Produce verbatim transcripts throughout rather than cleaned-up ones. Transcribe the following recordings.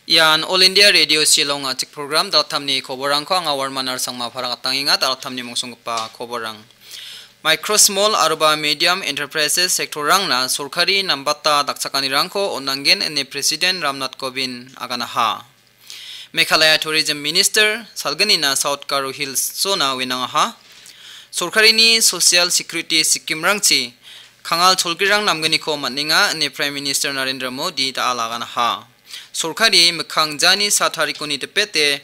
Ian All India Radio Shillong a·chik program, Daltamni koborrangko anga Warman Arsangma paragatangenga. Daltamni mongsonggipa koborrang. Micro, Small aroba Medium Enterprises sector-rangna sorkari nambata dakchakanirangko on·angen ine President Ramnath Kovind aganaha. Meghalaya Tourism Minister salgnina South Garo Hills-ona wenangaha. Sorkarini Social Security Scheme-rangchi kangal cholgrirang namgniko man·enga ine Prime Minister Narendra Modi da·al aganaha. Sorkari mikkang jani sa tarikoni dipete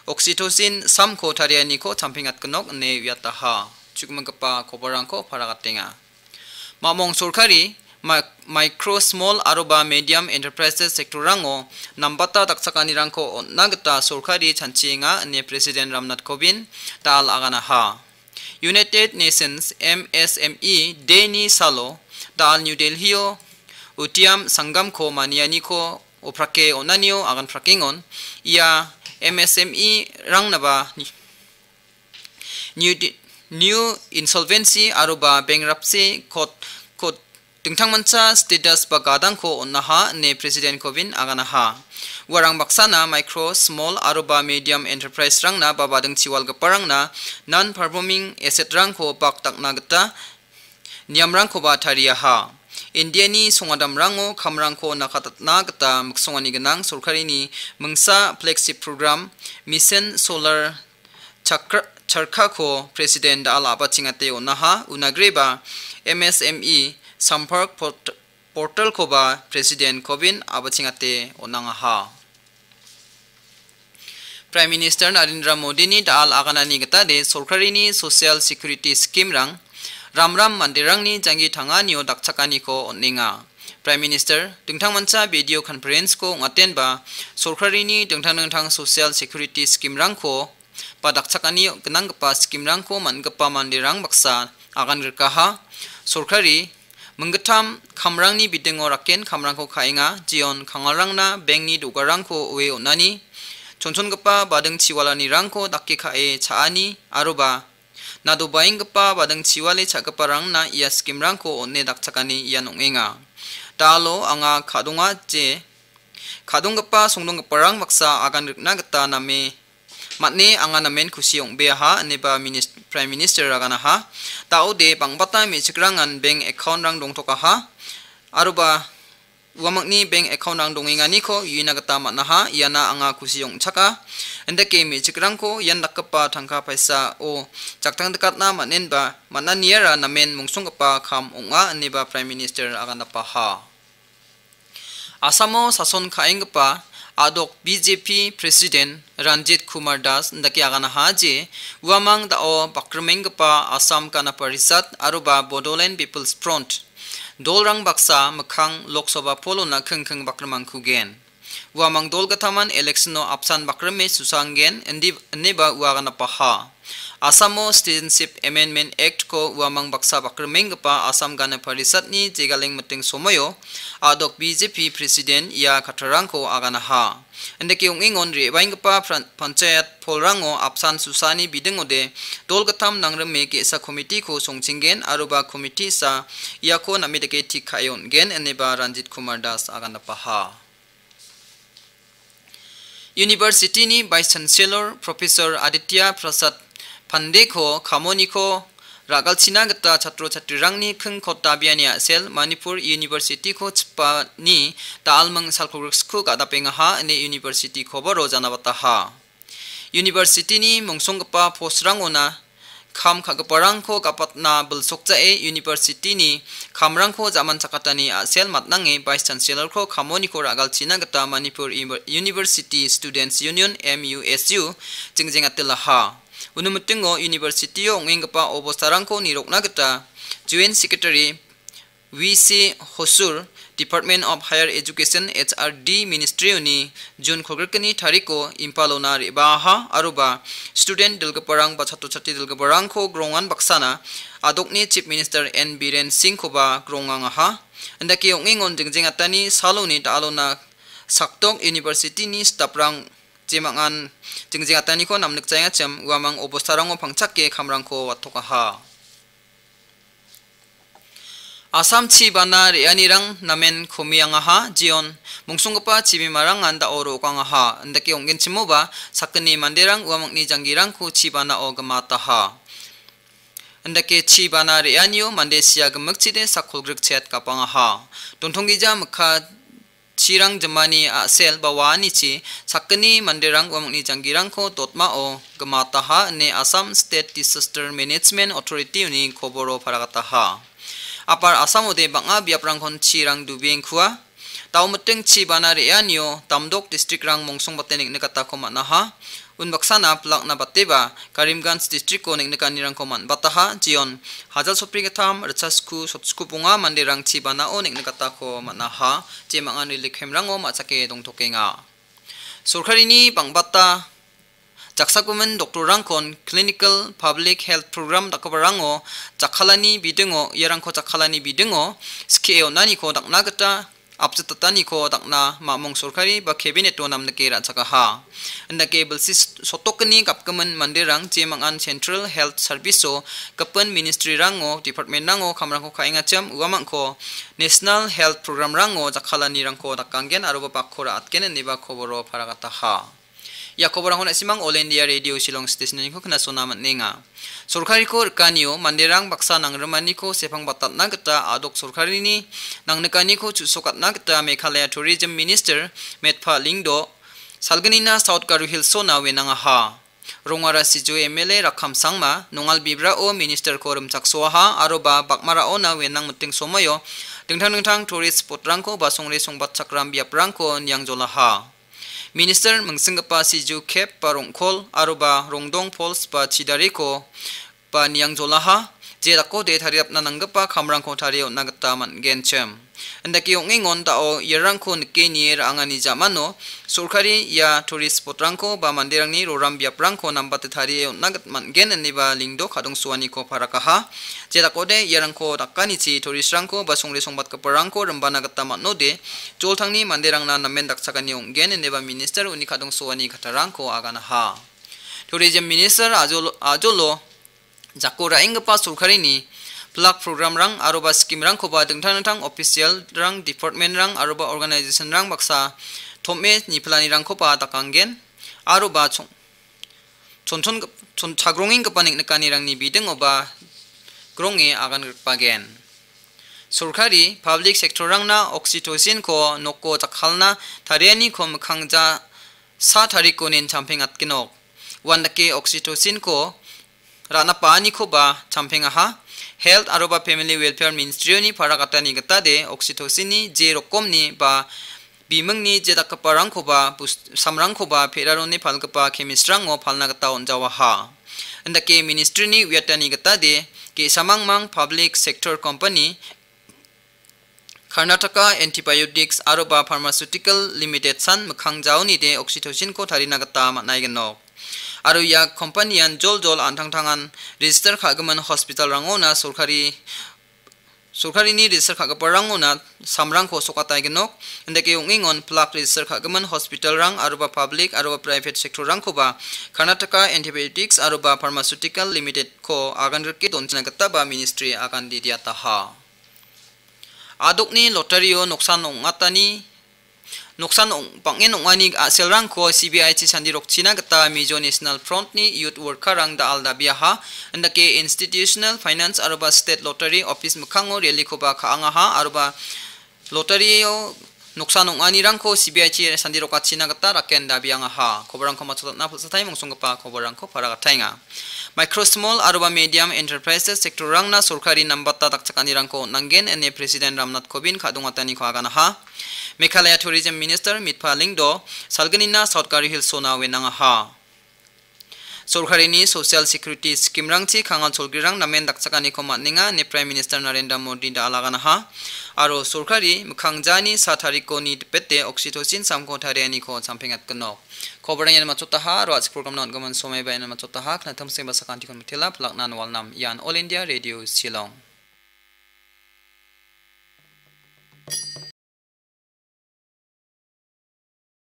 oxytocin samko tarianiko champeng atgnok ine uiataha. Chukminggipa koborrangko paragatenga. Mamong sorkari, ma-, micro, small aroba medium enterprises sector-rango nambata dakchakanirangko on·na gita sorkari chanchienga ine President Ramnath Kovind da·al aganaha. United Nations M S M E Day-ni salo da·al New Delhi-o Udiam Sangamko manianiko oprake on·anio aganprakengon. Ia M S M E-rangnaba New Di-, New Insolvency aroba Bankruptcy Code, Code dingtangmancha status ba gadangko on·aha ine President Kovind aganaha. Uarang baksana micro, small aroba medium enterprise-rangna ba badingchiwalgiparangna non-performing asset-rangko bakdakna gita niamrangkoba tariaha. Indiani songadamrango kamrangko nakatatna gita miksongani gnang sorkarini mingsa flagship program Mission Solar Chakra-, Charkhako President da·al a·bachengate on·aha, unagreba M S M E Sampark Port-, Portal-koba President Kovind a·bachengate on·angaha. Prime Minister Narendra Modi-ni da·al aganani gitade sorkarini Social Security Scheme-rang ramram manderangni janggi tanganio dakchakaniko on·enga. Prime Minister dingtangmancha video conference-ko ong·atenba sorkarini dingtang dingtang Social Security Scheme-rangko ba dakchakani gnanggipa scheme-rangko man·gipa manderang baksa agangrikaha. Sorkari minggittam kamrangni bidingo raken kamrangko ka·enga, jeon kangalrangna bank-ni do·garangko oe on·ani, chonchongipa bading chiwalanirangko dake ka·e cha·ani, aroba nadobaenggipa bading chiwale cha·giparangna ia scheme-rangko on·e dakchakani ian ong·enga. Da·alo anga ka·donga je, ka·donggipa songdonggiparang baksa agan rikna gita name man·e anga namen kusi ong·beaha, ineba minis-, Prime Minister aganaha. Da·ode bang·bata me·chikrangan bank account-rang dongtokaha. Aroba uamangni bank account-rang dongenganiko uina gita man·aha. Iana anga kusi ong·chaka. Indake me·chikrangko ian dakgipa tangka paisao jaktangdikatna man·enba man·aniara namen mongsonggipa kam ong·a, ineba Prime Minister aganapaha. Asamo sason ka·enggipa a·dok B J P President Ranjit Kumar Das indake aganaha je, uamang da·o bakrimenggipa Assam Gana Parishad aroba Bodoland People's Front dolrang baksa mikkang Lok Sabha poll-ona kingking bakrimangkugen. Uamang dolgitaman election-o apsan bakrime susanggen, indi-, ineba ua aganapaha. Asamo Citizenship Amendment Act-ko uamang baksa bakrimenggipa Assam Gana Parishad-ni jegaleng miting somoio a·dok B J P President ia kattarangko aganaha. Indake ong·engon re·baenggipa pran-, panchayat poll-rango apsan susani bidingode dolgittam nangrime ge·sa committee-ko songchenggen aroba committee-sa iako name dake tik ka·e on·gen, ineba Ranjit Kumar Das aganapaha. University-ni Vice Chancellor Professor Aditya Prasad Pandey-ko kamoniko ra·galchina gita chatro chatrirangni kingkot dabiani a·sel Manipur University-ko chipani da·alming salkogriksko ga·dapengaha ine University koboro janabataha. University-ni mongsonggipa post-rangona kam ka·giparangko gapatna bilsokjae University-ni kamrangko ja·manchakatani a·sel matnange Vice Chancellor-ko kamoniko ra·galchina gita Manipur Iber-, University Students Union, M U S U, jengjengatilaha. Uni mitingo university-o ong·enggipa obostarangko nirokna gita Joint Secretary V C Hosur, Department of Higher Education, H R D Ministry-oni June kolgrikni tariko Imphal-ona re·baaha, aroba student dilgiparang ba chatro chatri dilgiparangko grongan baksana a·dokni Chief Minister N Biren Singh-koba grongangaha. Indake ong·engon jingjengatani saloni da·alona sakdok university-ni staff-rang jemangan jingjengataniko namnikjaengachim uamang obostarango pangchake kamrangko watokaha. Assam chi bana re·anirang namen komiangaha, jeon mongsonggipa chibimarangan da·o ro·okangaha, indake ong·genchimoba sakgni manderang uamangni janggirangko chi banao gimataha. Indake chi bana re·anio mande sia gimikchide sakkolgrik chet gapangaha. Dontonggija mikka chirang jimani a·sel ba waanichi sakgni manderang uamangni janggirangko dotmao gimataha ine Assam State Disaster Management Authority-oni koboro paragataha. Apar Assamode bang·a biaprangkon chirang dubiengkua. Dao miting chi bana re·anio damdok district-rang mongsongbate neng·nikatako man·aha. Unbaksana pilakna bateba Karimganj district-o neng·nikanirangko man·bataha, jeon hajal sotbrigittam ritchasku sotskubonga manderang chi banao neng·nikatako man·aha, jemangan relief camp-rango ma·chake dongtokenga. Sorkarini bang·bata jaksagimin doktorrangkon clinical public health program dakgiparango jakkalani bidingo, iarangko jakkalani bidingo skie on·aniko dakna gita apjitataniko dakna mamung sorkari ba cabinet-o namnike ra·chakaha. Indake bilsi sotokgni gapgimin manderang jemangan Central Health Service-o gipin ministry-rango, department-rango kamrangko ka·engachim uamangko National Health Program-rango jakkalanirangko dakanggen aroba bakko ra·atgen ineba koboro paragataha. Ia koborangko na·simang All India Radio Shillong Station-oniko knasona man·enga. Sorkariko rikanio manderang baksa nangrimaniko sepang batatna gita adok sorkarini nangnikaniko chu·sokatna gita Meghalaya Tourism Minister Metpha Lyngdoh salgnina South Garo Hills-ona wenangaha. Rongara Sijo M L A Rakham Sangma, Nongal Bibrao Minister-ko rimchaksoaha, aroba Bakmaraona wenang miting somoio dingtang dingtang tourist spot-rangko ba songre songbatchakram biaprangko niangjolaha. Minister mingsinggipa Sijo Cave ba Rongkhol aroba Rongdong Falls ba Chidariko ba niangjolaha, je dakode tariapna nanggipa kamrangko tarie on·na gita man·genchim. Indake ong·engon dao iarangko nike nie ra·angani jamano sorkari ia tourist spot-rangko ba manderangni roram biaprangko nambate tarie on·na git-, man·gen ineba Lyngdoh kadongsoaniko parakaha. Je dakode iarangko dakanichi tourist-rangko ba songre songbatgiparangko rimbana gita man·ode, joltangni manderangna namen dakchakani ong·gen ineba minister uni kadongsoani kattarangko aganaha. Tourism Minister ajolo, ajolo jako ra·enggipa sorkarini pilak program-rang aroba scheme-rangkoba dingtang dingtang official-rang, department-rang aroba organization-rang baksa tom·e nipilanirangkoba dakanggen aroba chon-, chonchon-, chon-, chagrongenggipa neng·nikanirangni bidingoba gronge agan gripagen. Sorkari public sector-rangna oxytocin-ko noko jakkalna tarianiko mikkangja sa tarikonin champeng atgenok. Uandake oxytocin-ko ra·na pa·anikoba champengaha. Health aroba Family Welfare Ministry-oni parakatani gitade oxytocin-ni je rokomni ba bimingni je dakgiparangkoba bus-, samrangkoba peraroni palgipa chemist-rango palna gita on·jawaha. Indake ministry-ni uiatani gitade ge·samangmang public sector company Karnataka Antibiotics aroba Pharmaceutical Limited san mikkang jaonide oxytocin-ko tarina gita man·aigenok. Aro ia company-an joljol an·tangtangan register ka·gimin hospital-rangona sorkari, sorkarini register ka·giparangona samrangko sokataigenok. Indake ong·engon pilak register ka·gimin hospital-rang aroba public aroba private sector-rangkoba Karnataka Antibiotics aroba Pharmaceutical Limited-ko agangrike donchina gitaba ministry agan didiataha. Adokni lottery-o noksan ong·atani, noksan ong-, bang·en ong·ani a·selrangko C B I-chi sandirokchina gita Mizo National Front-ni youth worker-rang da·al dabiaha, indake Institutional Finance aroba State Lottery Office mikkango rally-koba ka·angaha, aroba lottery-o noksan ong·anirangko C B I-chi sandirokachina gita raken dabiangaha. Koborangko matchotatna pil·satai mongsonggipa koborangko paragataenga. Micro, small aroba medium enterprises sector-rangna sorkari nambata dakchakanirangko on·angen ine President Ramnath Kovind ka·dongataniko aganaha. Meghalaya Tourism Minister Mitpha Lyngdoh salgnina South Garo Hills-ona wenangaha. Sorkarini social security scheme-rangchi kangal cholgrirang namen dakchakaniko man·enga ine Prime Minister Narendra Modi da·al aganaha. Aro sorkari mikkangjani sa tarikoni dipete oxytocin samko tarianiko champengatgenok. Koborang ian matchotaha, aro a·chik program-na on·gimin somaiba ian matchotaha, knattamsengba sakantikon mitela, pilakna walnam, ian All India Radio Shillong.